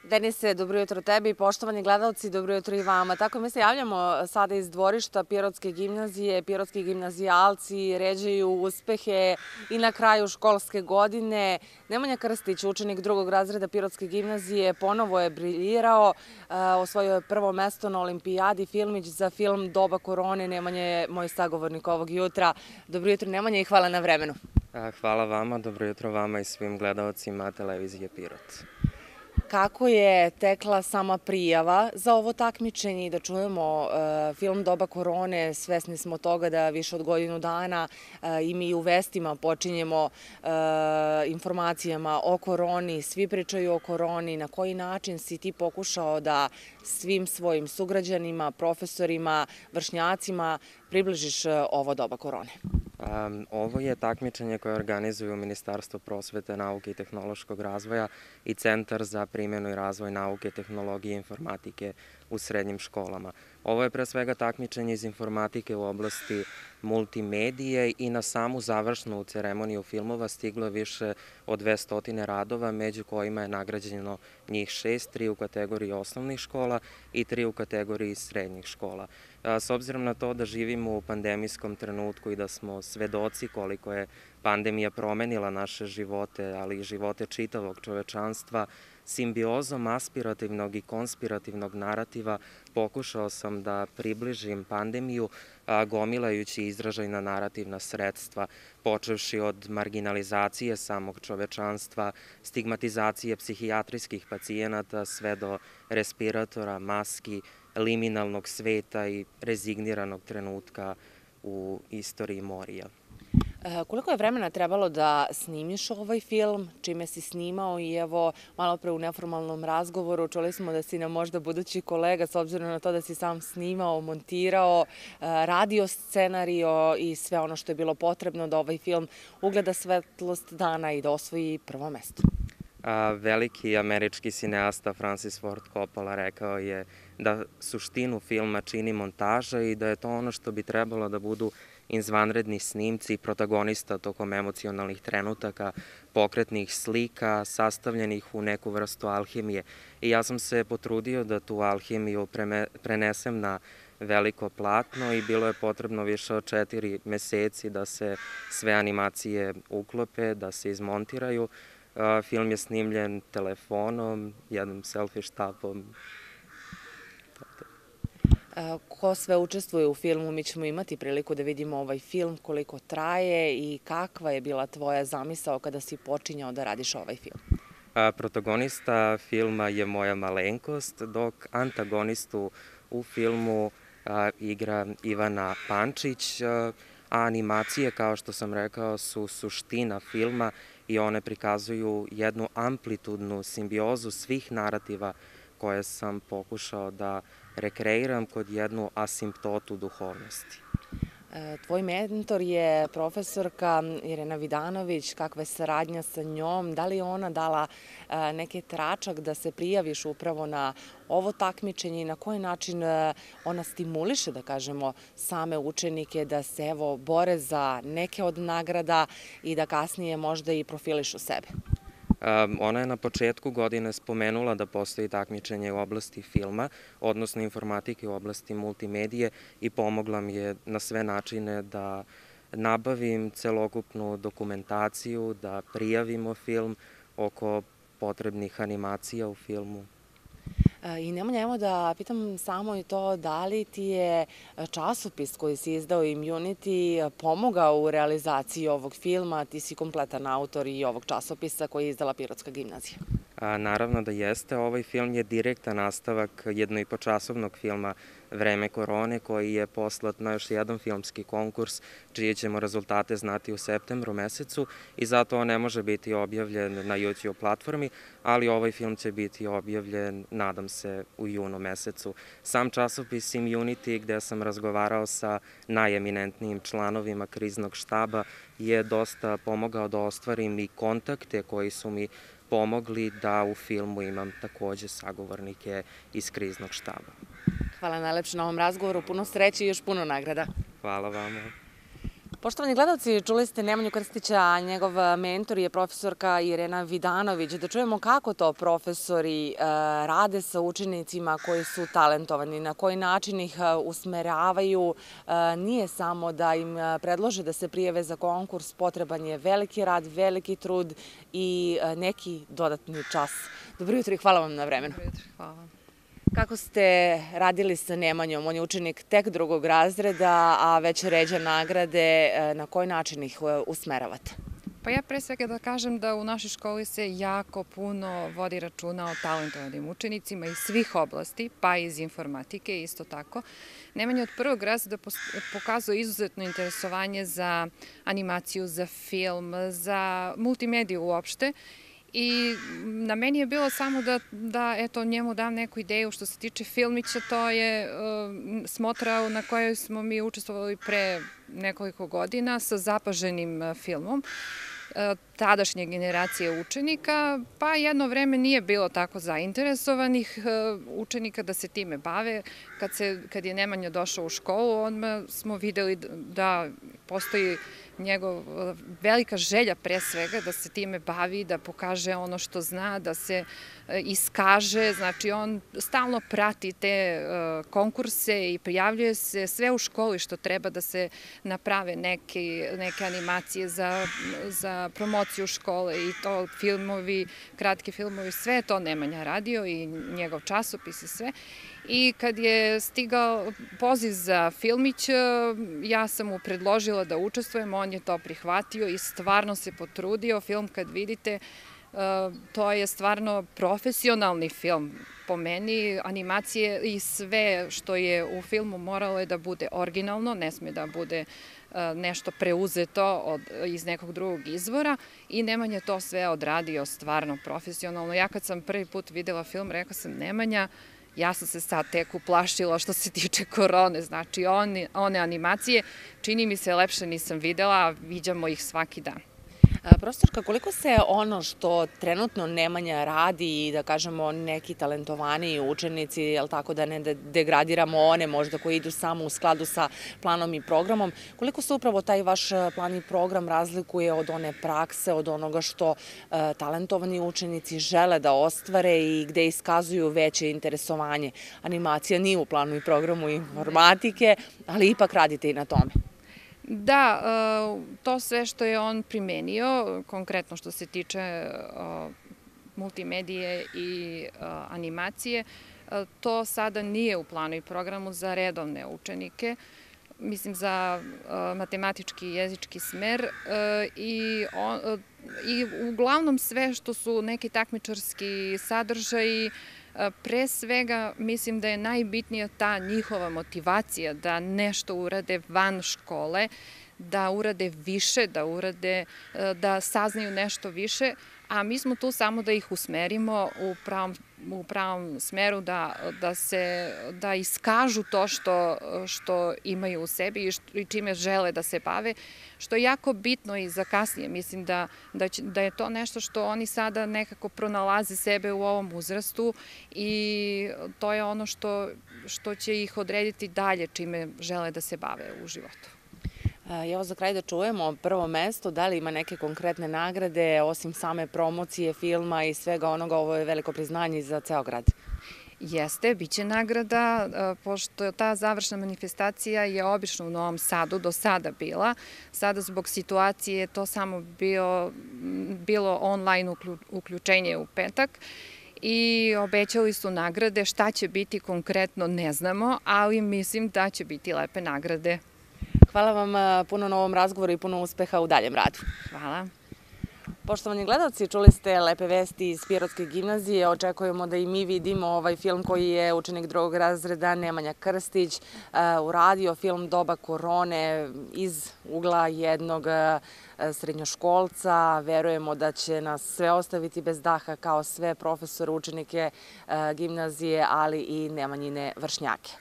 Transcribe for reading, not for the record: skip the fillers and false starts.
Denise, dobro jutro tebi. Poštovani gledalci, dobro jutro i vama. Tako mi se javljamo sada iz dvorišta Pirotske gimnazije. Pirotski gimnazijalci ređaju uspehe i na kraju školske godine. Nemanja Krstić, učenik drugog razreda Pirotske gimnazije, ponovo je briljirao. Osvojio je prvo mesto na olimpijadi Filmić za film Doba korone. Nemanja je moj sagovornik ovog jutra. Dobro jutro, Nemanja, i hvala na vremenu. Hvala vama, dobro jutro vama i svim gledalcima televizije Pirot. Kako je tekla sama prijava za ovo takmičenje i da čujemo film Doba korone? Svesni smo toga da više od godinu dana i mi u vestima počinjemo informacijama o koroni, svi pričaju o koroni. Na koji način si ti pokušao da svim svojim sugrađanima, profesorima, vršnjacima približiš ovo doba korone? Ovo je takmičenje koje organizuju Ministarstvo prosvete, nauke i tehnološkog razvoja i Centar za primjenu i razvoj nauke, tehnologije i informatike u srednjim školama. Ovo je pre svega takmičenje iz informatike u oblasti multimedije i na samu završnu ceremoniju filmova stiglo je više od 200 radova, među kojima je nagrađeno njih 6, 3 u kategoriji osnovnih škola i 3 u kategoriji srednjih škola. S obzirom na to da živimo u pandemijskom trenutku i da smo svedoci koliko je pandemija promenila naše živote, ali i živote čitavog čovečanstva, simbiozom aspirativnog i konspirativnog narativa pokušao sam da približim pandemiju gomilajući izražajna narativna sredstva, počevši od marginalizacije samog čovečanstva, stigmatizacije psihijatrijskih pacijenata, sve do respiratora, maski, liminalnog sveta i rezigniranog trenutka u istoriji Morija. Koliko je vremena trebalo da snimiš ovaj film, čime si snimao i evo malo pre u neformalnom razgovoru čuli smo da si nam možda budući kolega s obzirom na to da si sam snimao, montirao, radio scenario i sve ono što je bilo potrebno da ovaj film ugleda svetlost dana i da osvoji prvo mesto. Veliki američki cineasta Francis Ford Coppola rekao je da suštinu filma čini montaža i da je to ono što bi trebalo da budu izvanredni snimci protagonista tokom emocionalnih trenutaka, pokretnih slika, sastavljenih u neku vrstu alhemije. I ja sam se potrudio da tu alhemiju prenesem na veliko platno i bilo je potrebno više od 4 meseci da se sve animacije uklope, da se izmontiraju. Film je snimljen telefonom, jednom selfie štapom. Ko sve učestvuje u filmu? Mi ćemo imati priliku da vidimo ovaj film, koliko traje i kakva je bila tvoja zamisao kada si počinjao da radiš ovaj film? Protagonista filma je moja malenkost, dok antagonistu u filmu igra Ivana Pančić, a animacije, kao što sam rekao, su suština filma i one prikazuju jednu amplitudnu simbiozu svih narativa koje sam pokušao da rekreiram kod jednu asimptotu duhovnosti. Tvoj mentor je profesorka Irena Vidanović. Kakva je saradnja sa njom? Da li je ona dala neki tračak da se prijaviš upravo na ovo takmičenje i na koji način ona stimuliše, da kažemo, same učenike da se evo bore za neke od nagrada i da kasnije možda i profilišu sebe? Ona je na početku godine spomenula da postoji takmičenje u oblasti filma, odnosno informatike u oblasti multimedije i pomogla mi je na sve načine da nabavim celokupnu dokumentaciju, da prijavimo film oko potrebnih animacija u filmu. I Nemanja, evo da pitam samo i to da li ti je časopis koji si izdao Immunity pomogao u realizaciji ovog filma? Ti si kompletan autor i ovog časopisa koji je izdala Pirotska gimnazija. Naravno da jeste. Ovaj film je direktan nastavak jednoipočasovnog filma Vreme korone, koji je poslat na još jedan filmski konkurs, čije ćemo rezultate znati u septembru mesecu i zato on ne može biti objavljen na YouTube platformi, ali ovaj film će biti objavljen, nadam se, u junu mesecu. Sam časopis Immunity, gde sam razgovarao sa najeminentnijim članovima kriznog štaba, je dosta pomogao da ostvarim i kontakte koji su mi pomogli da u filmu imam takođe sagovornike iz kriznog štaba. Hvala najlepše na ovom razgovoru, puno sreće i još puno nagrada. Hvala vama. Poštovani gledalci, čuli ste Nemanju Krstića, a njegov mentor je profesorka Irena Vidanović. Da čujemo kako to profesori rade sa učenicima koji su talentovani, na koji način ih usmeravaju. Nije samo da im predlože da se prijave za konkurs, potreban je veliki rad, veliki trud i neki dodatni čas. Dobro jutro i hvala vam na vremenu. Dobro jutro, hvala. Kako ste radili sa Nemanjom? On je učenik tek 2. razreda, a već ređa nagrade. Na koji način ih usmeravate? Pa ja pre svega da kažem da u našoj školi se jako puno vodi računa o talentovanim učenicima iz svih oblasti, pa i iz informatike isto tako. Nemanja od 1. razreda pokazuje izuzetno interesovanje za animaciju, za film, za multimediju uopšte. I na meni je bilo samo da eto, njemu dam neku ideju što se tiče filmića, to je smotra na kojoj smo mi učestvovali pre nekoliko godina sa zapaženim filmom tadašnje generacije učenika, pa jedno vreme nije bilo tako zainteresovanih učenika da se time bave. Kad je Nemanja došao u školu, odmah smo videli da postoji njegov velika želja pre svega da se time bavi, da pokaže ono što zna, da se iskaže. Znači, on stalno prati te konkurse i prijavljuje se sve u školi što treba da se naprave neke animacije za promociju škole i to filmovi, kratki filmovi, sve to Nemanja radio i njegov časopis i sve. I kad je stigao poziv za filmić, ja sam mu predložila da učestvujem, on je to prihvatio i stvarno se potrudio. Film kad vidite, to je stvarno profesionalni film po meni, animacije i sve što je u filmu moralo je da bude originalno, ne sme da bude nešto preuzeto iz nekog drugog izvora i Nemanja to sve odradio stvarno profesionalno. Ja kad sam prvi put videla film, rekla sam Nemanja, ja sam se sad tek uplašila što se tiče korone, znači one animacije, čini mi se lepše nisam videla, a viđamo ih svaki dan. Profesorka, koliko se ono što trenutno Nemanja radi i da kažemo neki talentovaniji učenici, jel tako da ne degradiramo one možda koji idu samo u skladu sa planom i programom, koliko se upravo taj vaš plan i program razlikuje od one prakse, od onoga što talentovani učenici žele da ostvare i gde iskazuju veće interesovanje? Animacija nije u planu i programu informatike, ali ipak radite i na tome. Da, to sve što je on primenio, konkretno što se tiče multimedije i animacije, to sada nije u planu i programu za redovne učenike, mislim za matematički i jezički smer i uglavnom sve što su neki takmičarski sadržaji. Pre svega mislim da je najbitnija ta njihova motivacija da nešto urade van škole, da urade više, da saznaju nešto više, a mi smo tu samo da ih usmerimo u pravom smeru, da iskažu to što imaju u sebi i čime žele da se bave, što je jako bitno i za kasnije. Mislim da je to nešto što oni sada nekako pronalaze sebe u ovom uzrastu i to je ono što će ih odrediti dalje čime žele da se bave u životu. Evo za kraj da čujemo prvo mesto, da li ima neke konkretne nagrade, osim same promocije filma i svega onoga, ovo je veliko priznanje za ceo grad. Jeste, bit će nagrada, pošto ta završna manifestacija je obično u Novom Sadu do sada bila. Sada zbog situacije je to samo bilo online uključenje u petak i obećali su nagrade. Šta će biti konkretno ne znamo, ali mislim da će biti lepe nagrade. Hvala vam puno na ovom razgovoru i puno uspeha u daljem radu. Hvala. Poštovani gledalci, čuli ste lepe vesti iz Pirotske gimnazije. Očekujemo da i mi vidimo ovaj film koji je učenik 2. razreda Nemanja Krstić uradio, film Doba korone iz ugla jednog srednjoškolca. Verujemo da će nas sve ostaviti bez daha kao sve profesore, učenike gimnazije, ali i Nemanjine vršnjake.